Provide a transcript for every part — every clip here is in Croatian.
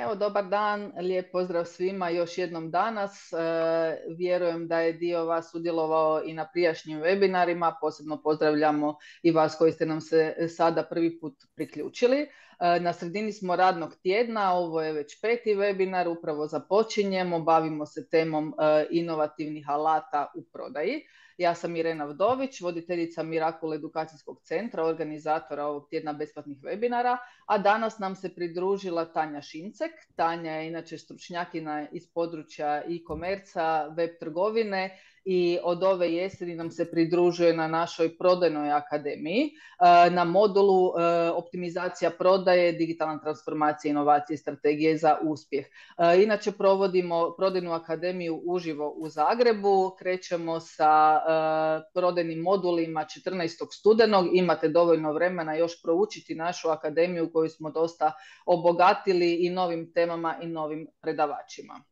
Evo, dobar dan, lijep pozdrav svima još jednom danas. Vjerujem da je dio vas sudjelovao i na prijašnjim webinarima, posebno pozdravljamo i vas koji ste nam se sada prvi put priključili. Na sredini smo radnog tjedna, ovo je već peti webinar, upravo započinjemo, bavimo se temom inovativnih alata u prodaji. Ja sam Irena Vdović, voditeljica Mirakul edukacijskog centra, organizatora ovog tjedna besplatnih webinara, a danas nam se pridružila Tanja Šincek. Tanja je inače stručnjakinja iz područja e-komerca, web trgovine i od ove jeseni nam se pridružuje na našoj prodajnoj akademiji na modulu optimizacija prodaje, digitalna transformacija, inovacije i strategije za uspjeh. Inače provodimo prodajnu akademiju uživo u Zagrebu, krećemo sa prodajnim modulima 14. studenog, imate dovoljno vremena još proučiti našu akademiju koju smo dosta obogatili i novim temama i novim predavačima.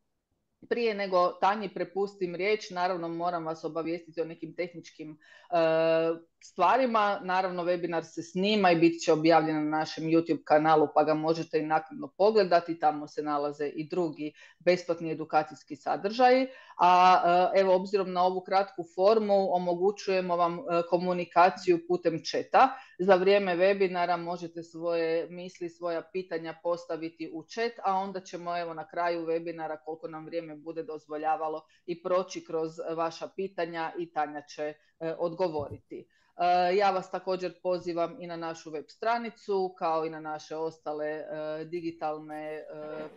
Prije nego Tanji prepustim riječ, naravno moram vas obavijestiti o nekim tehničkim stvarima. Naravno, webinar se snima i bit će objavljen na našem YouTube kanalu, pa ga možete i naknadno pogledati. Tamo se nalaze i drugi besplatni edukacijski sadržaji. A evo, obzirom na ovu kratku formu, omogućujemo vam komunikaciju putem chata. Za vrijeme webinara možete svoje misli, svoja pitanja postaviti u chat, a onda ćemo evo na kraju webinara, koliko nam vrijeme bude dozvoljavalo, i proći kroz vaša pitanja i Tanja će odgovoriti. Ja vas također pozivam i na našu web stranicu, kao i na naše ostale digitalne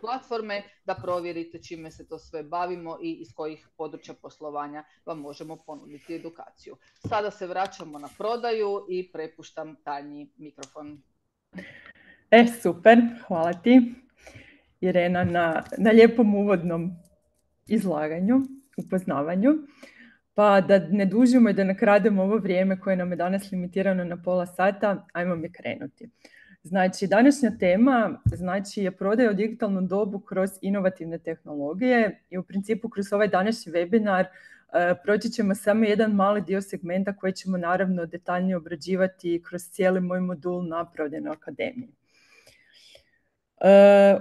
platforme, da provjerite čime se to sve bavimo i iz kojih područja poslovanja vam možemo ponuditi edukaciju. Sada se vraćamo na prodaju i prepuštam Tanji mikrofon. Super, hvala ti Irena na lijepom uvodnom izlaganju, upoznavanju. Pa da ne dužimo i da ne krademo ovo vrijeme koje nam je danas limitirano na pola sata, ajmo mi krenuti. Znači, današnja tema je prodaja u digitalnom dobu kroz inovativne tehnologije i u principu kroz ovaj današnji webinar proći ćemo samo jedan mali dio segmenta koji ćemo naravno detaljnije obrađivati kroz cijeli moj modul na prodajnoj akademiji.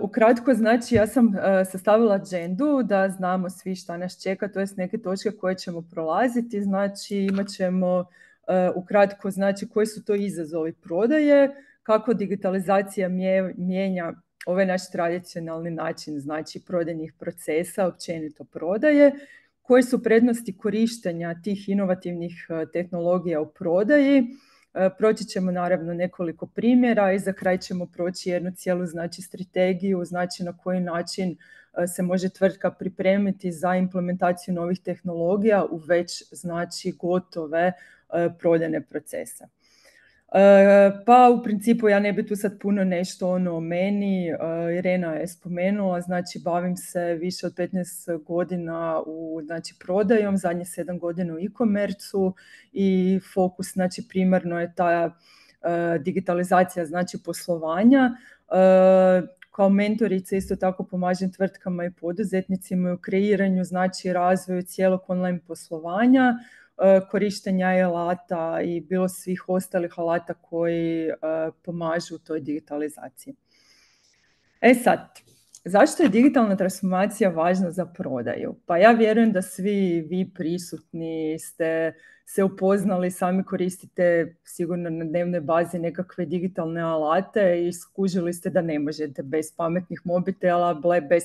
Ukratko, znači, ja sam sastavila agendu da znamo svi šta nas čeka, to jest neke točke koje ćemo prolaziti. Znači, imat ćemo ukratko, znači, koji su to izazovi prodaje, kako digitalizacija mijenja ovaj naš tradicionalni način, znači, prodajnih procesa, općenito prodaje, koje su prednosti korištenja tih inovativnih tehnologija u prodaji. Proći ćemo naravno nekoliko primjera i za kraj ćemo proći jednu cijelu, znači, strategiju, znači na koji način se može tvrtka pripremiti za implementaciju novih tehnologija u već, znači, gotove prodajne procese. Pa u principu ja ne bi tu sad puno nešto o meni, Irena je spomenula, znači bavim se više od 15 godina znači, prodajom, zadnje 7 godina u e-komercu i fokus, znači, primarno je ta digitalizacija, znači, poslovanja. Kao mentorica isto tako pomažem tvrtkama i poduzetnicima u kreiranju, znači razvoju cijelog online poslovanja, korištenja alata i bilo svih ostalih alata koji pomažu u toj digitalizaciji. Sad, zašto je digitalna transformacija važna za prodaju? Pa ja vjerujem da svi vi prisutni ste se upoznali, sami koristite sigurno na dnevnoj bazi nekakve digitalne alate i skužili ste da ne možete bez pametnih mobitela, bez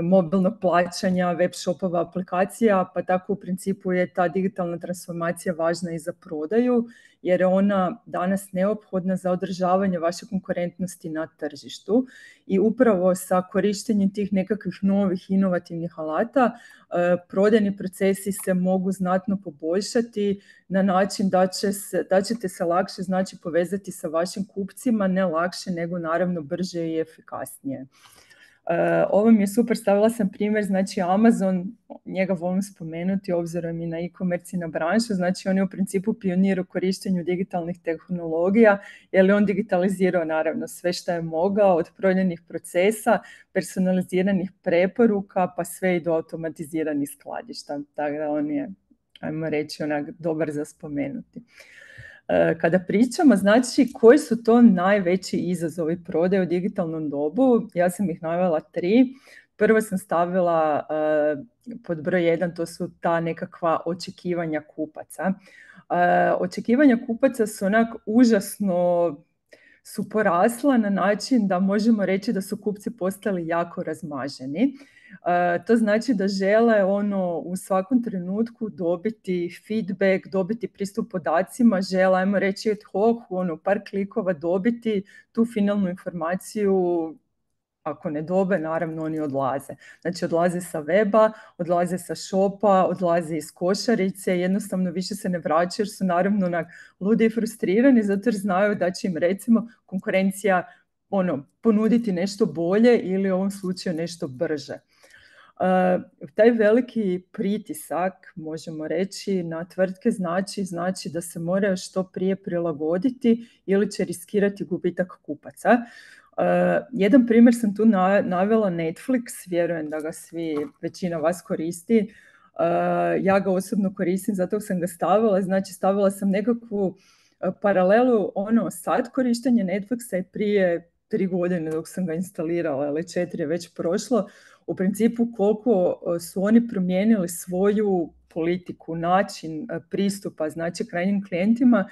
mobilnog plaćanja, web shopova, aplikacija, pa tako u principu je ta digitalna transformacija važna i za prodaju, jer je ona danas neophodna za održavanje vaše konkurentnosti na tržištu i upravo sa korištenjem tih nekakvih novih inovativnih alata prodajni procesi se mogu znatno poboljšati na način da ćete se lakše, znači, povezati sa vašim kupcima, ne lakše nego naravno brže i efikasnije. Ovo mi je super, stavila sam primjer, znači Amazon, njega volim spomenuti obzirom i na e-commerce i na branšu, znači on je u principu pionir u korištenju digitalnih tehnologija, jer je on digitalizirao naravno sve što je mogao, od prodajnih procesa, personaliziranih preporuka, pa sve i do automatiziranih skladišta, tako da on je, ajmo reći, onak dobar za spomenuti. Kada pričamo, znači, koji su to najveći izazovi prodaje u digitalnom dobu? Ja sam ih navela 3. Prvo sam stavila pod broj 1, to su ta nekakva očekivanja kupaca. Očekivanja kupaca su onak užasno su porasla na način da možemo reći da su kupci postali jako razmaženi. To znači da žele u svakom trenutku dobiti feedback, dobiti pristup podacima, žele, ajmo reći, ad hoc, par klikova dobiti tu finalnu informaciju. Ako ne dobe, naravno oni odlaze. Znači odlaze sa weba, odlaze sa shopa, odlaze iz košarice, jednostavno više se ne vraćaju jer su naravno ludi i frustrirani zato jer znaju da će im recimo konkurencija ponuditi nešto bolje ili u ovom slučaju nešto brže. Taj veliki pritisak, možemo reći, na tvrtke znači da se moraju što prije prilagoditi ili će riskirati gubitak kupaca. Jedan primjer sam tu navela Netflix, vjerujem da ga većina vas koristi. Ja ga osobno koristim, zato sam ga stavila. Znači stavila sam nekakvu paralelu sad korištenje Netflixa i prije 3 godine dok sam ga instalirala, ili 4 je već prošlo. U principu koliko su oni promijenili svoju politiku, način pristupa, znači krajnjim klijentima,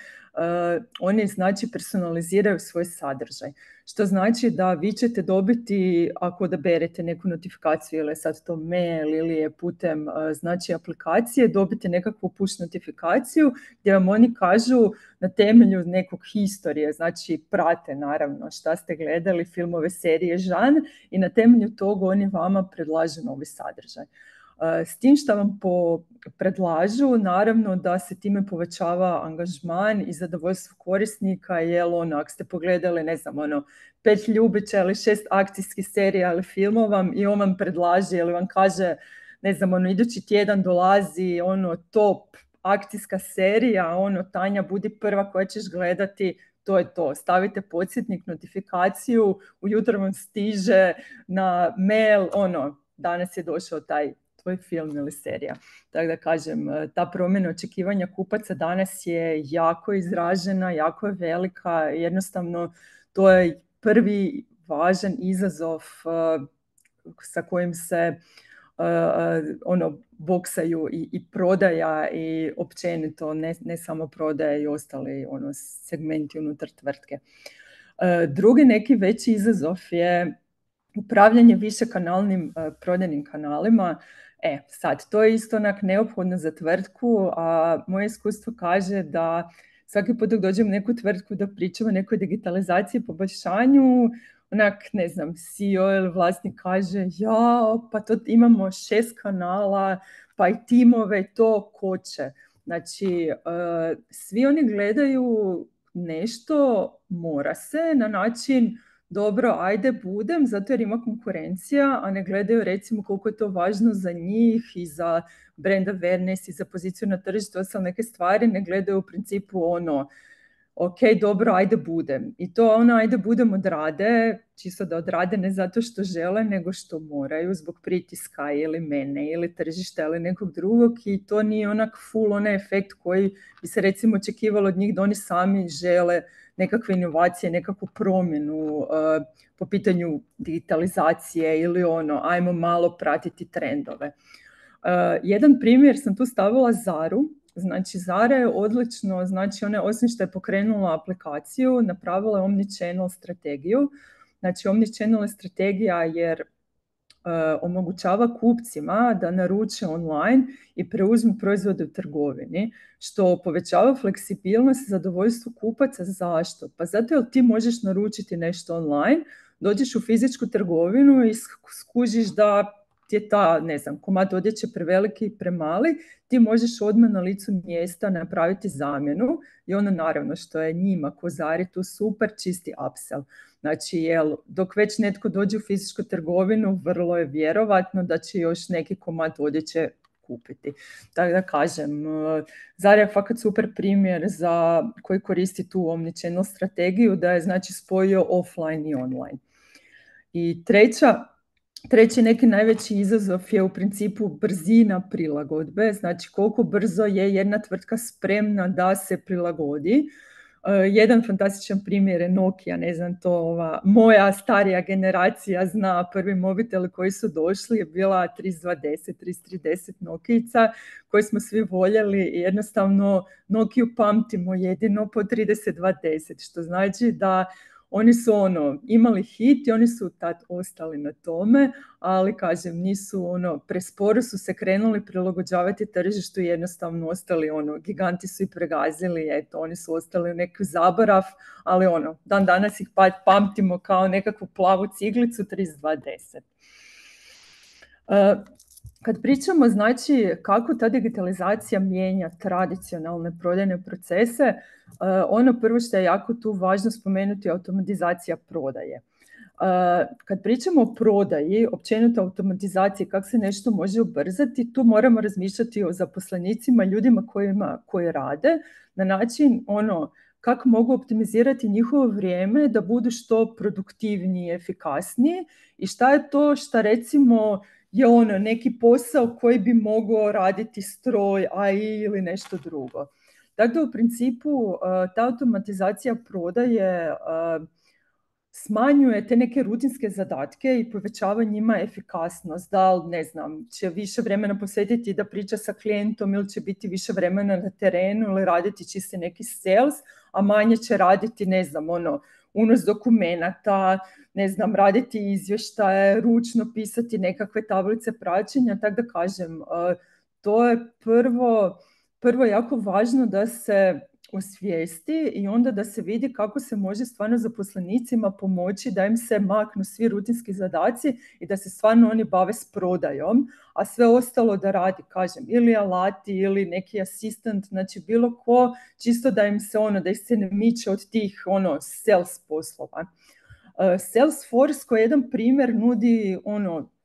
oni znači personaliziraju svoj sadržaj. Što znači da vi ćete dobiti, ako odaberete neku notifikaciju ili je sad to mail ili je putem znači aplikacije, dobite nekakvu push notifikaciju gdje vam oni kažu na temelju nekog historije, znači prate naravno šta ste gledali, filmove, serije, žanr, i na temelju toga oni vama predlažu novi sadržaj. S tim što vam predlažu, naravno da se time povećava angažman i zadovoljstvo korisnika, jer ako ste pogledali, 5 Ljubića ili 6 akcijskih serija ili filmova i on vam predlaže ili vam kaže, idući tjedan dolazi top akcijska serija, Tanja, budi prva koja ćeš gledati, to je to. Stavite podsjetnik, notifikaciju, ujutro vam stiže na mail, danas je došao taj tvoj film ili serija. Tako da kažem, ta promjena očekivanja kupaca danas je jako izražena, jako je velika. Jednostavno, to je prvi važan izazov sa kojim se boksaju i prodaja i općenito, ne samo prodaja i ostali segmenti unutar tvrtke. Drugi neki veći izazov je upravljanje višekanalnim prodajnim kanalima. Sad, to je isto neophodno za tvrtku, a moje iskustvo kaže da svaki put dok dođem u neku tvrtku da pričamo o nekoj digitalizaciji i poboljšanju, CEO ili vlasnik kaže, pa to imamo 6 kanala, pa i timove, to koče. Znači, svi oni gledaju nešto, mora se, na način, dobro, ajde budem, zato jer ima konkurencija, a ne gledaju recimo koliko je to važno za njih i za brand awareness i za poziciju na tržištu, ostale neke stvari, ne gledaju u principu ok, dobro, ajde budem. I to ajde budem odrade, čisto da odrade ne zato što žele, nego što moraju zbog pritiska ili mene ili tržišta ili nekog drugog, i to nije full onaj efekt koji bi se recimo očekivalo od njih da oni sami žele nekakve inovacije, nekakvu promjenu po pitanju digitalizacije ili ajmo malo pratiti trendove. Jedan primjer sam tu stavila Zaru. Znači, Zara je odlično, znači ona osim što je pokrenula aplikaciju, napravila je omnichannel strategiju. Znači, omnichannel je strategija jer omogućava kupcima da naruče online i preuzmu proizvode u trgovini, što povećava fleksibilnost i zadovoljstvo kupaca. Zašto? Pa zato jer ti možeš naručiti nešto online, dođeš u fizičku trgovinu i skužiš da ti je komad odjeće preveliki i premali, ti možeš odmah na licu mjesta napraviti zamjenu i naravno što je njima ko Zari tu super, čisti upsell. Znači, dok već netko dođe u fizičku trgovinu, vrlo je vjerovatno da će još neki komad odjeće kupiti. Tako da kažem, Zara je fakat super primjer za koji koristi tu omnichannel strategiju, da je znači spojio offline i online. I treća Treći neki najveći izazov je u principu brzina prilagodbe, znači koliko brzo je jedna tvrtka spremna da se prilagodi. Jedan fantastičan primjer je Nokia, ne znam, to moja starija generacija zna, prvi mobiteli koji su došli je bila 3210, 3310 Nokijica koji smo svi voljeli i jednostavno Nokiju pamtimo jedino po 3210, što znači da oni su imali hit i oni su tad ostali na tome, ali kažem, nisu presporo su se krenuli prilagođavati tržištu i jednostavno ostali giganti su i pregazili, eto, oni su ostali u neki zaborav, ali dan danas ih pamtimo kao nekakvu plavu ciglicu 3210. Kad pričamo, znači, kako ta digitalizacija mijenja tradicionalne prodajne procese, ono prvo što je jako tu važno spomenuti je automatizacija prodaje. Kad pričamo o prodaji, općenito automatizaciji, kako se nešto može ubrzati, tu moramo razmišljati o zaposlenicima, ljudima koji rade, na način kako mogu optimizirati njihovo vrijeme da budu što produktivniji, efikasniji i šta je to što recimo je neki posao koji bi mogao raditi stroj, AI ili nešto drugo. Dakle, u principu ta automatizacija prodaje smanjuje te neke rutinske zadatke i povećava njima efikasnost. Da li, ne znam, će više vremena posvetiti da priča sa klijentom ili će biti više vremena na terenu ili raditi čisti neki sales, a manje će raditi, ne znam, unos dokumenata, ne znam, raditi izvještaje, ručno pisati nekakve tablice praćenja, tako da kažem, to je prvo jako važno da se osvijesti i onda da se vidi kako se može stvarno zaposlenicima pomoći da im se maknu svi rutinski zadaci i da se stvarno oni bave s prodajom, a sve ostalo da radi, kažem, ili alati ili neki asistent, znači bilo ko, čisto da im se da ih se ne miče od tih sales poslova. Salesforce koji jedan primjer nudi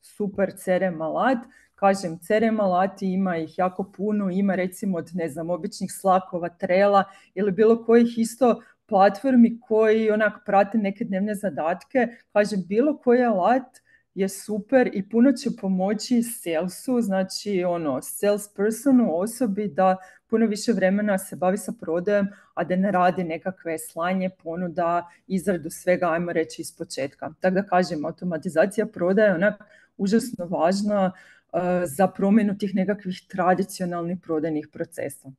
super CRM alat. Kažem, CRM alati ima ih jako puno, ima recimo od, ne znam, običnih Slackova, Trela ili bilo kojih isto platformi koji onak prate neke dnevne zadatke. Kažem, bilo koji alat je super i puno će pomoći salesu, znači salespersonu, osobi da puno više vremena se bavi sa prodajom, a da ne radi nekakve slanje ponuda, izradu svega, ajmo reći, iz početka. Tako da kažem, automatizacija prodaje je onak užasno važna za promjenu tih nekakvih tradicionalnih prodajnih procesa.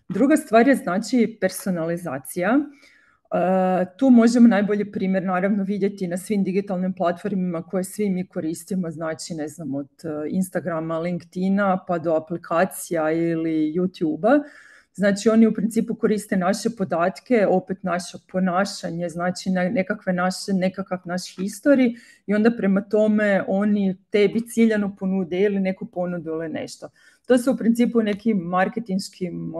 Druga stvar je znači personalizacija. Tu možemo najbolji primjer naravno vidjeti na svim digitalnim platformima koje svi mi koristimo, znači ne znam, od Instagrama, LinkedIna pa do aplikacija ili YouTube-a. Znači oni u principu koriste naše podatke, opet naše ponašanje, znači nekakav naš history i onda prema tome oni tebi ciljano ponude ili neku ponudu ili nešto. To se u principu nekim marketinškim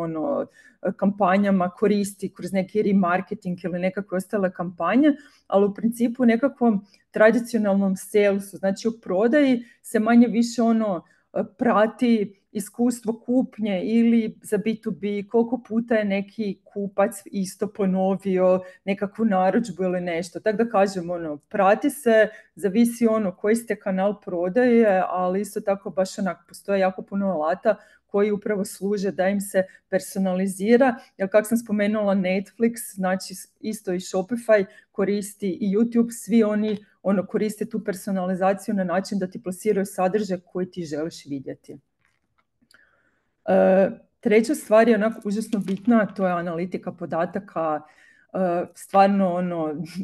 kampanjama koristi kroz neki remarketing ili nekakve ostale kampanje, ali u principu nekakvom tradicionalnom salesu, znači u prodaji se manje više prati iskustvo kupnje ili za B2B, koliko puta je neki kupac isto ponovio nekakvu narudžbu ili nešto. Tako da kažem, prati se, zavisi koji ste kanal prodaje, ali isto tako baš postoje jako puno alata koji upravo služe da im se personalizira, jer kako sam spomenula Netflix, znači isto i Shopify koristi i YouTube, svi oni koriste tu personalizaciju na način da ti plasiraju sadržaj koji ti želiš vidjeti. Treća stvar je onako užasno bitna, to je analitika podataka. Stvarno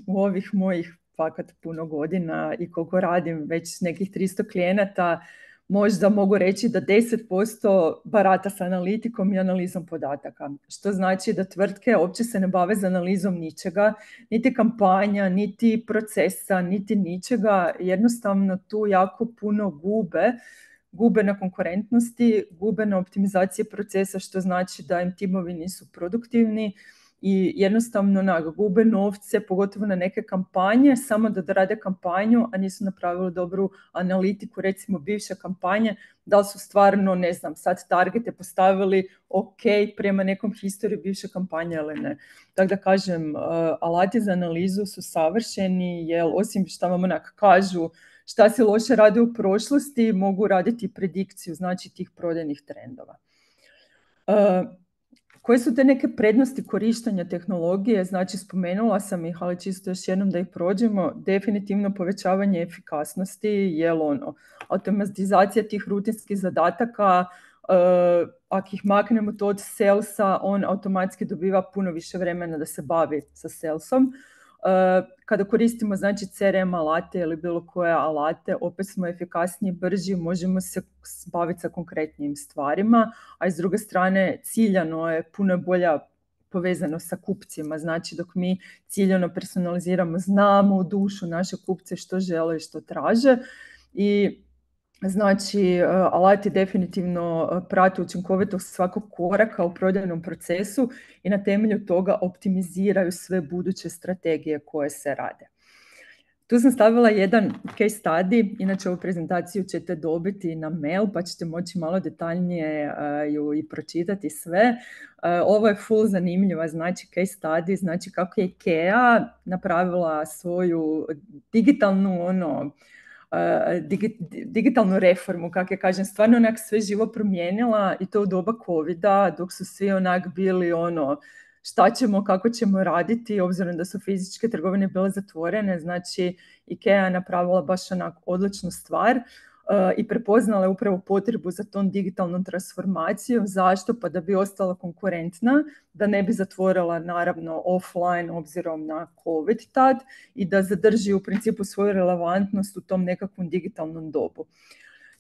u ovih mojih fakat puno godina i koliko radim već nekih 300 klijenata, možda mogu reći da 10% barata s analitikom i analizom podataka. Što znači da tvrtke uopće se ne bave za analizom ničega, niti kampanja, niti procesa, niti ničega. Jednostavno tu jako puno gube na konkurentnosti, gube na optimizaciji procesa, što znači da im timovi nisu produktivni i jednostavno gube novce, pogotovo na neke kampanje, samo da rade kampanju, a nisu napravili dobru analitiku, recimo bivše kampanje, da li su stvarno, ne znam, sad targete postavili ok prema nekom historiji bivše kampanje ili ne. Tako da kažem, alati za analizu su savršeni, jer osim što vam kažu šta se loše radi u prošlosti, mogu raditi predikciju, znači tih prodajnih trendova. Koje su te neke prednosti korištenja tehnologije? Znači, spomenula sam ih, ali čisto još jednom da ih prođemo. Definitivno povećavanje efikasnosti, jer automatizacija tih rutinskih zadataka, ako ih maknemo to od salesa, on automatski dobiva puno više vremena da se bavi sa salesom. Kada koristimo znači CRM alate ili bilo koje alate, opet smo efikasniji, brži, možemo se baviti sa konkretnim stvarima, a s druge strane ciljano je puno bolja povezano sa kupcima. Znači dok mi ciljano personaliziramo, znamo u dušu naše kupce što žele i što traže, i znači alati definitivno prate učinkovitost svakog koraka u prodajnom procesu i na temelju toga optimiziraju sve buduće strategije koje se rade. Tu sam stavila jedan case study, inače ovu prezentaciju ćete dobiti na mail pa ćete moći malo detaljnije ju i pročitati sve. Ovo je full zanimljiva, znači case study, znači kako je IKEA napravila svoju digitalnu reformu, kako je kažem, stvarno onak sve živo promijenila, i to u doba covida, dok su svi onak bili šta ćemo, kako ćemo raditi, obzirom da su fizičke trgovine bile zatvorene. Znači IKEA je napravila baš onak odličnu stvar i prepoznala je upravo potrebu za tom digitalnom transformacijom. Zašto? Pa da bi ostala konkurentna, da ne bi zatvorila naravno offline obzirom na COVID tad i da zadrži u principu svoju relevantnost u tom nekakvom digitalnom dobu.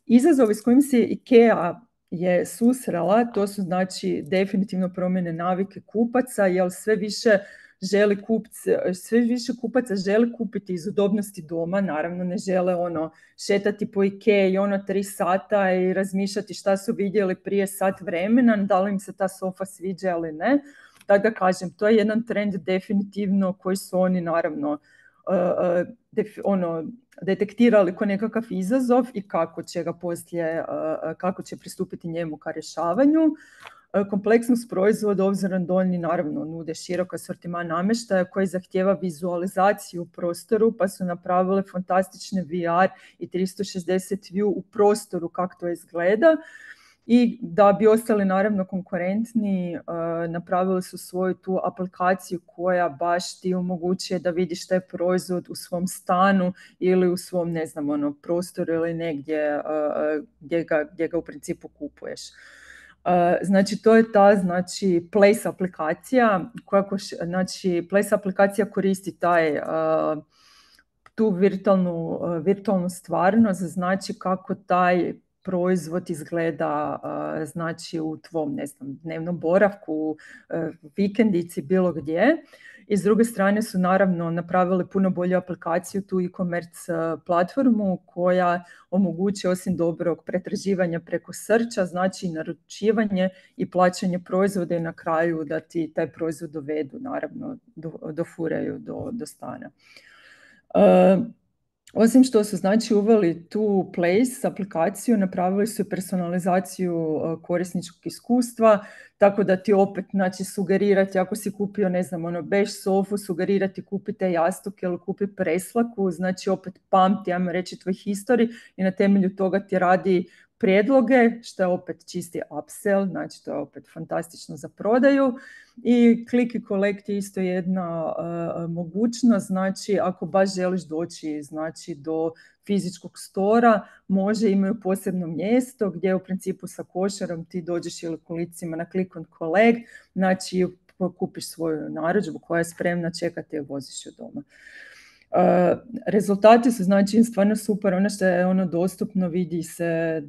Izazovi s kojim se IKEA je susrela, to su znači definitivno promjene navike kupaca, jer sve više kupaca želi kupiti iz udobnosti doma, naravno ne žele šetati po IKEA i 3 sata i razmišljati šta su vidjeli prije sat vremena, da li im se ta sofa sviđa ili ne. Tako da kažem, to je jedan trend definitivno koji su oni naravno detektirali kao nekakav izazov i kako će ga poslije, kako će pristupiti njemu ka rješavanju. Kompleksnost proizvoda, obzirom da oni naravno nude širok asortiman namještaja koji zahtijeva vizualizaciju u prostoru, pa su napravile fantastične VR i 360 view u prostoru kako to izgleda. I da bi ostali naravno konkurentni, napravili su svoju tu aplikaciju koja baš ti omogućuje da vidiš taj proizvod u svom stanu ili u svom, ne znam, prostoru ili negdje gdje ga u principu kupuješ. Znači to je ta Place aplikacija Place aplikacija koristi tu virtualnu stvarnost, znači kako taj proizvod izgleda znači u tvom, ne znam, dnevnom boravku, vikendici, bilo gdje. I s druge strane su naravno napravili puno bolju aplikaciju, tu e-commerce platformu koja omogućuje osim dobrog pretraživanja preko searcha, znači naručivanje i plaćanje proizvoda i na kraju da ti taj proizvod dovedu, naravno dofuraju do stana. Osim što su znači uveli tu Place aplikaciju, napravili su personalizaciju korisničkog iskustva, tako da ti opet znači sugerirati, ako si kupio, ne znam, bež sofu, sugerirati kupite jastuk ili kupi preslaku, znači opet pamti, ajmo reći, tvoj history i na temelju toga ti radi prijedloge, što je opet čisti upsell, znači to je opet fantastično za prodaju. I click and collect je isto jedna mogućnost, znači ako baš želiš doći znači do fizičkog stora, imaju posebno mjesto gdje u principu sa košarom ti dođeš ili kolicima na click and collect, znači kupiš svoju narudžbu koja je spremna, čekati i voziš ju doma. Rezultati su znači stvarno super, ono što je dostupno, vidi se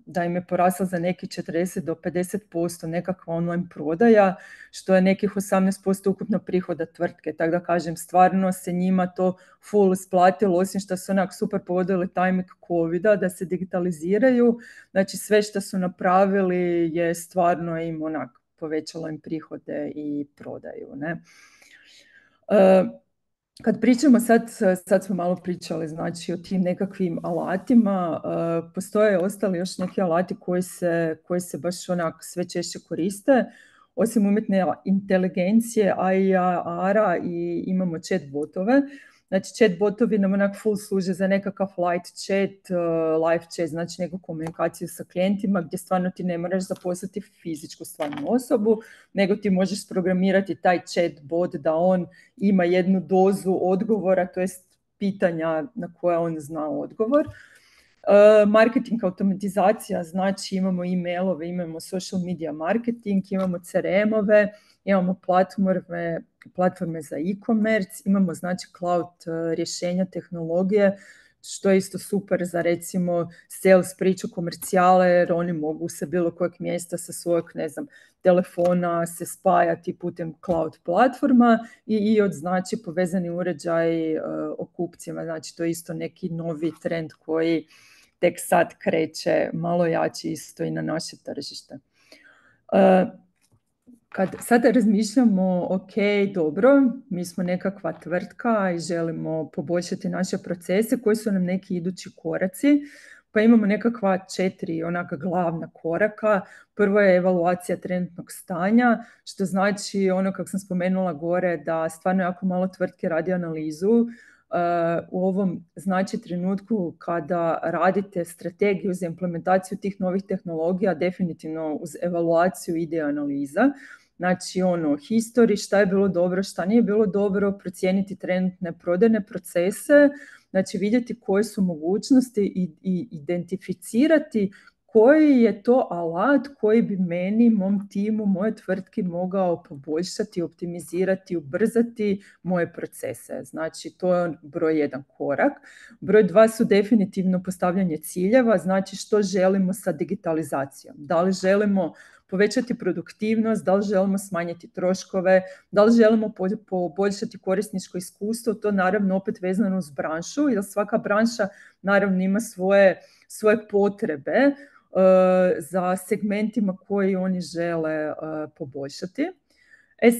da im je porasla za neki 40 do 50% nekakva online prodaja, što je nekih 18% ukupno prihoda tvrtke, tako da kažem, stvarno se njima to full isplatilo, osim što su onak super pogodili timing covida da se digitaliziraju, znači sve što su napravili je stvarno im onak povećalo im prihode i prodaju, ne. Kad pričamo sad smo malo pričali znači o tim nekakvim alatima, postoje ostali još neki alati koji se baš onak sve češće koriste. Osim umjetne inteligencije, AI-a i imamo chat botove. Znači chat botovi nam onak full služe za nekakav light chat, live chat, znači neku komunikaciju sa klijentima gdje stvarno ti ne moraš zaposliti fizičku stvarnu osobu, nego ti možeš programirati taj chat bot da on ima jednu dozu odgovora, to jest pitanja na koja on zna odgovor. Marketing automatizacija, znači imamo e-mailove, imamo social media marketing, imamo CRM-ove, imamo platforme za e-commerce, imamo znači cloud rješenja, tehnologije, što je isto super za recimo sales priču, komercijale, jer oni mogu sa bilo kojeg mjesta sa svojeg, ne znam, telefona se spajati putem cloud platforma i od znači povezani uređaj o kupcima, znači to je isto neki novi trend koji tek sad kreće malo jači isto i na naše tržište. Kad sada razmišljamo, ok, dobro, mi smo nekakva tvrtka i želimo poboljšati naše procese, koji su nam neki idući koraci, pa imamo nekakva 4 onaka glavna koraka. Prvo je evaluacija trenutnog stanja, što znači ono kako sam spomenula gore da stvarno jako malo tvrtke radi analizu. U ovom znači trenutku kada radite strategiju za implementaciju tih novih tehnologija, definitivno uz evaluaciju ide analiza. Znači history, šta je bilo dobro, šta nije bilo dobro, procijeniti trenutne prodajne procese, znači vidjeti koje su mogućnosti i identificirati koji je to alat koji bi meni, mom timu, moje tvrtki mogao poboljšati, optimizirati, ubrzati moje procese. Znači to je broj 1 korak. Broj 2 su definitivno postavljanje ciljeva, znači što želimo sa digitalizacijom. Da li želimo povećati produktivnost, da li želimo smanjiti troškove, da li želimo poboljšati korisničko iskustvo, to naravno opet vezano uz branšu, jer svaka branša naravno ima svoje potrebe za segmentima koji oni žele poboljšati.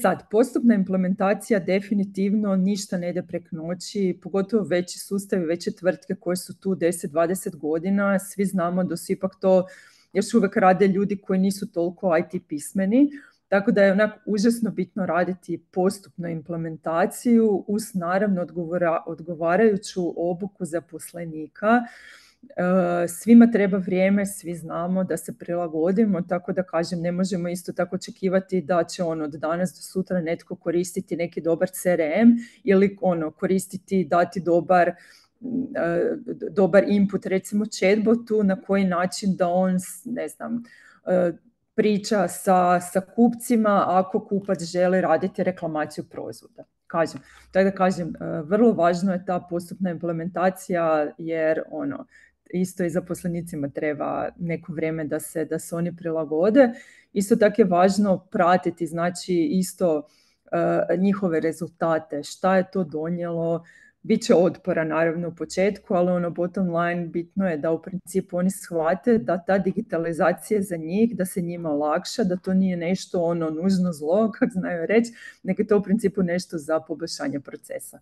Sad, postupna implementacija definitivno ništa ne ide preko noći, pogotovo veći sustavi, veće tvrtke koje su tu 10-20 godina, svi znamo da su ipak to još uvijek rade ljudi koji nisu toliko IT pismeni, tako da je onako užasno bitno raditi postupnu implementaciju uz naravno odgovarajuću obuku zaposlenika. Svima treba vrijeme, svi znamo da se prilagodimo, tako da kažem, ne možemo isto tako očekivati da će od danas do sutra netko koristiti neki dobar CRM ili koristiti, dati dobar input recimo chatbotu, na koji način da on, ne znam, priča sa kupcima ako kupac želi raditi reklamaciju proizvoda. Kažem, vrlo važno je ta postupna implementacija jer isto i zaposlenicima treba neko vrijeme da se oni prilagode. Isto tako je važno pratiti, znači isto njihove rezultate, šta je to donijelo. Biće otpora naravno u početku, ali bottom line bitno je da u principu oni shvate da ta digitalizacija za njih, da se njima olakša, da to nije nešto nužno zlo, kako znaju reći, nego je to u principu nešto za poboljšanje procesa.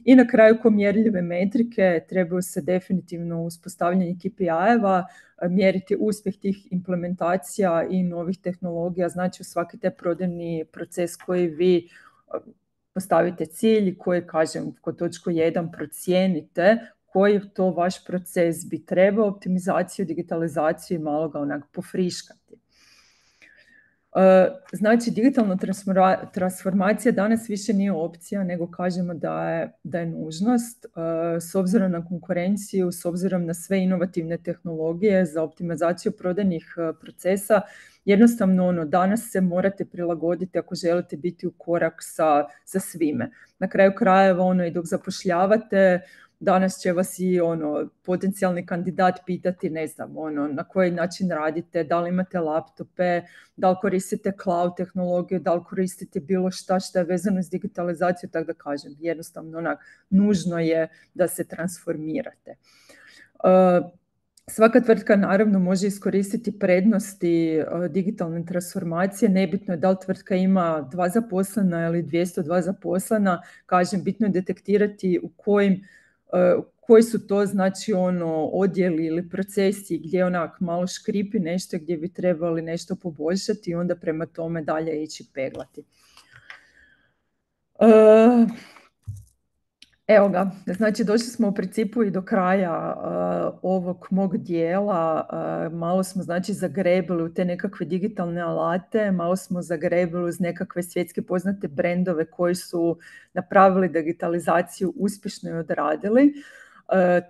I na kraju ko mjerljive metrike trebaju se definitivno uspostavljanje KPI-eva, mjeriti uspjeh tih implementacija i novih tehnologija, znači u svaki taj prodajni proces koji vi postavite cilj, koji, kažem, kod točku 1 procijenite koji to vaš proces bi trebao, optimizaciju, digitalizaciju i malo ga onak pofriškati. Znači, digitalna transformacija danas više nije opcija, nego kažemo da je nužnost. S obzirom na konkurenciju, s obzirom na sve inovativne tehnologije za optimizaciju prodajnih procesa, jednostavno danas se morate prilagoditi ako želite biti u korak sa svime. Na kraju krajeva i dok zapošljavate, danas će vas i potencijalni kandidat pitati, ne znam, na koji način radite, da li imate laptope, da li koristite cloud tehnologiju, da li koristite bilo šta je vezano s digitalizaciju, tako da kažem, jednostavno nužno je da se transformirate. Svaka tvrtka naravno može iskoristiti prednosti digitalne transformacije, nebitno je da li tvrtka ima 2 zaposlena ili 202 zaposlena, kažem, bitno je detektirati koji su to znači odjeli ili procesi gdje onak malo škripi nešto, gdje bi trebali nešto poboljšati i onda prema tome dalje ići peglati. Evo ga, znači došli smo u principu i do kraja ovog mog dijela. Malo smo znači zagrebili u te nekakve digitalne alate, malo smo zagrebili uz nekakve svjetske poznate brendove koji su napravili digitalizaciju, uspješno i odradili.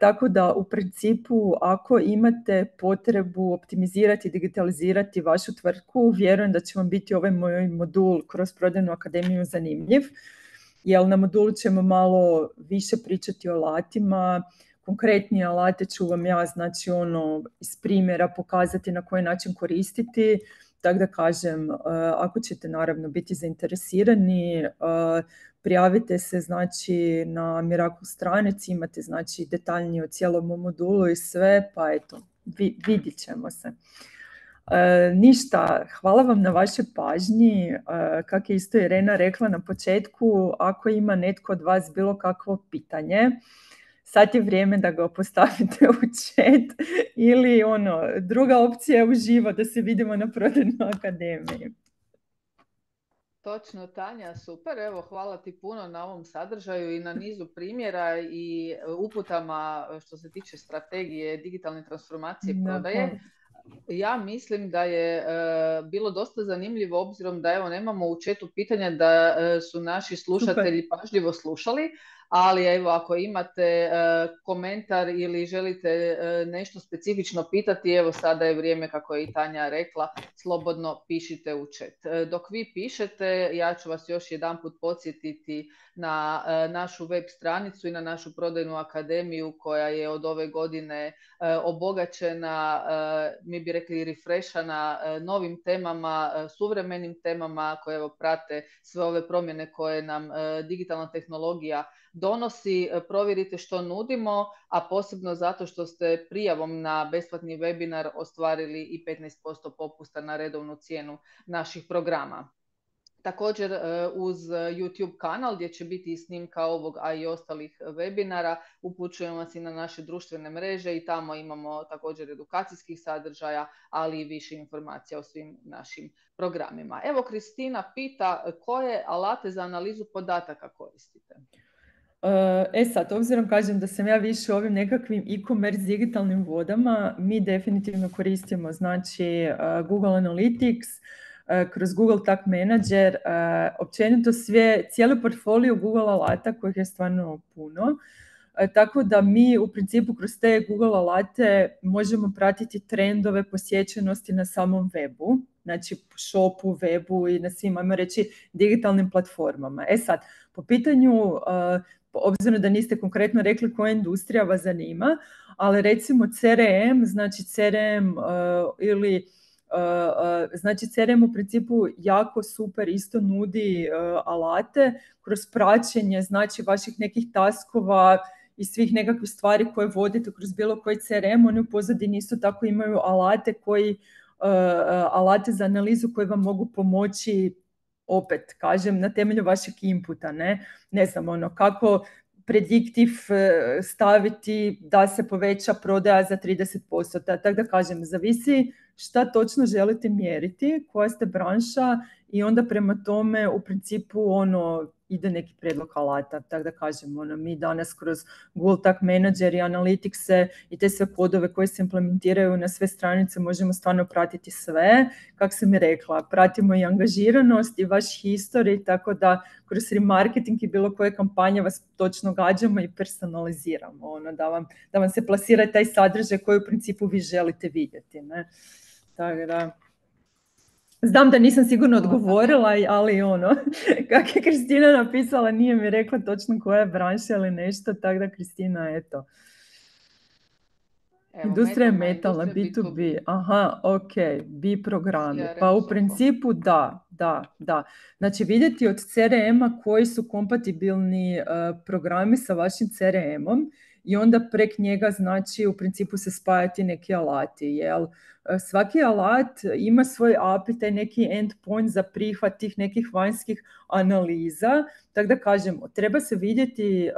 Tako da u principu ako imate potrebu optimizirati, digitalizirati vašu tvrtku, vjerujem da će vam biti ovaj moj modul kroz Prodajnu akademiju zanimljiv. Jer na modulu ćemo malo više pričati o alatima, konkretnije alate ću vam ja znači iz primjera pokazati na koji način koristiti, tako da kažem, ako ćete naravno biti zainteresirani, prijavite se znači na Miracle stranici, imate znači detaljnije o cijelom modulu i sve, pa eto, vidit ćemo se. Ništa, hvala vam na vašoj pažnji. Kako je isto Irena rekla na početku, ako ima netko od vas bilo kakvo pitanje, sad je vrijeme da ga postavite u chat ili druga opcija je uživo da se vidimo na Prodajnoj akademiji. Točno, Tanja, super. Evo, hvala ti puno na ovom sadržaju i na nizu primjera i uputama što se tiče strategije digitalne transformacije prodaje. Ja mislim da je bilo dosta zanimljivo obzirom da evo nemamo u chatu pitanja, da su naši slušatelji pažljivo slušali, ali evo ako imate komentar ili želite nešto specifično pitati, evo sada je vrijeme, kako je i Tanja rekla, slobodno pišite u chat. Dok vi pišete, ja ću vas još jedanput podsjetiti na našu web stranicu i na našu Prodajnu akademiju koja je od ove godine obogaćena, mi bi rekli refreshana novim temama, suvremenim temama koje evo prate sve ove promjene koje nam digitalna tehnologija donosi. Provjerite što nudimo, a posebno zato što ste prijavom na besplatni webinar ostvarili i 15% popusta na redovnu cijenu naših programa. Također uz YouTube kanal gdje će biti i snimka ovog, a i ostalih webinara, upućujemo vas i na naše društvene mreže i tamo imamo također edukacijskih sadržaja, ali i više informacija o svim našim programima. Evo, Kristina pita koje alate za analizu podataka koristite? Sad, obzirom kažem da sam ja više ovim nekakvim e-commerce digitalnim vodama, mi definitivno koristimo znači Google Analytics, kroz Google Tag Manager, općenito cijeli portfolio Google alata kojih je stvarno puno. Tako da mi u principu kroz te Google alate možemo pratiti trendove posjećenosti na samom webu, znači shopu, webu i na svim, ajmo reći, digitalnim platformama. Sad, po pitanju, obzirom da niste konkretno rekli koja industrija vas zanima, ali recimo CRM, znači CRM ili znači CRM u principu jako super isto nudi alate kroz praćenje znači vaših nekih taskova i svih nekakvih stvari koje vodite kroz bilo koji CRM. Oni u pozadini isto tako imaju alate za analizu koji vam mogu pomoći, opet kažem, na temelju vašeg inputa, ne znam, kako prediktiv staviti da se poveća prodaja za 30%. Tako da kažem, zavisi šta točno želite mjeriti, koja ste branša i onda prema tome u principu ide neki prijedlog alata. Tako da kažem, mi danas kroz Google Tag Manager i Analytics i te sve kodove koje se implementiraju na sve stranice možemo stvarno pratiti sve. Kako sam i rekla, pratimo i angažiranost i vaš history, tako da kroz remarketing i bilo koje kampanje vas točno gađamo i personaliziramo, da vam se plasira taj sadržaj koji u principu vi želite vidjeti. Tako da, znam da nisam sigurno odgovorila, ali kako je Kristina napisala, nije mi rekla točno koja je branša ili nešto, tako da Kristina, eto. Industrija je metalna, B2B, aha, ok, B programi, pa u principu da. Znači vidjeti od CRM-a koji su kompatibilni programi sa vašim CRM-om i onda prek njega znači u principu se spajati neki alati, jel? Svaki alat ima svoj API, taj neki endpoint za prihvat tih nekih vanjskih analiza, tako da kažem, treba se vidjeti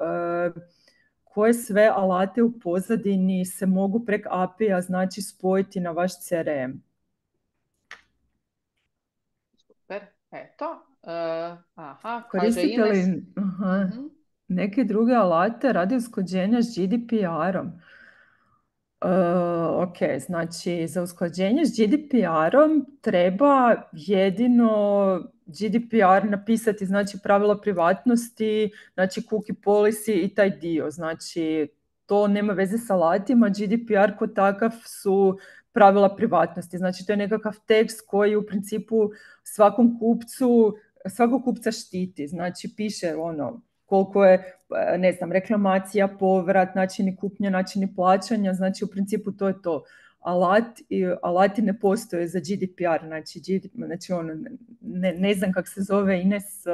koje sve alate u pozadini se mogu prek API-a znači spojiti na vaš CRM. Super, eto. Kaže Koristite Ines. li neke druge alate radi usklađenja s GDPR-om? Ok, znači za usklađenje s GDPR-om treba jedino GDPR napisati, znači pravila privatnosti, znači cookie policy i taj dio. Znači to nema veze sa alatima, GDPR kod takav su pravila privatnosti. Znači to je nekakav tekst koji u principu svakog kupca štiti. Znači piše koliko je, ne znam, reklamacija, povrat, načini kupnje, načini plaćanja, znači u principu to je to. Alati ne postoje za GDPR, znači ne znam kako se zove Ines,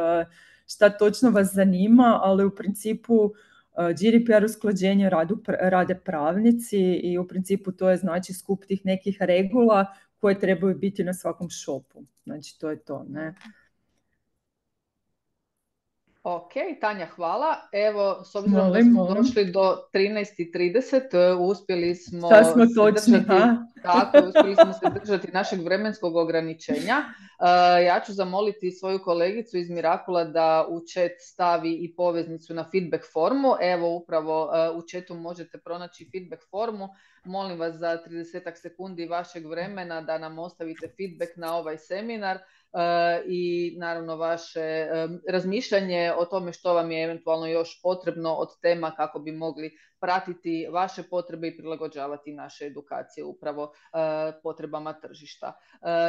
šta točno vas zanima, ali u principu GDPR usklađenje rade pravnici i u principu to je znači skup tih nekih regula koje trebaju biti na svakom shopu. Znači to je to, ne? Ok, Tanja, hvala. Evo, s obzirom da smo došli do 13:30, uspjeli smo se držati našeg vremenskog ograničenja. Ja ću zamoliti svoju kolegicu iz Mirakula da u chat stavi i poveznicu na feedback formu. Evo, upravo u chatu možete pronaći feedback formu. Molim vas za 30 sekundi vašeg vremena da nam ostavite feedback na ovaj seminar. I naravno vaše razmišljanje o tome što vam je eventualno još potrebno od tema kako bi mogli pratiti vaše potrebe i prilagođavati naše edukacije upravo potrebama tržišta.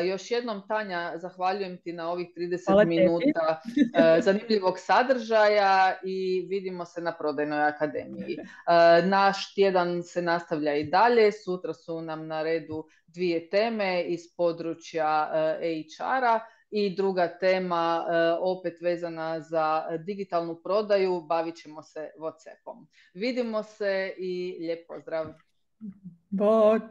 Još jednom, Tanja, zahvaljujem ti na ovih 30 minuta zanimljivog sadržaja i vidimo se na Prodajnoj akademiji. Naš tjedan se nastavlja i dalje. Sutra su nam na redu 2 teme iz područja HR-a. I druga tema opet vezana za digitalnu prodaju, bavit ćemo se WhatsAppom. Vidimo se i lijep pozdrav. Bok!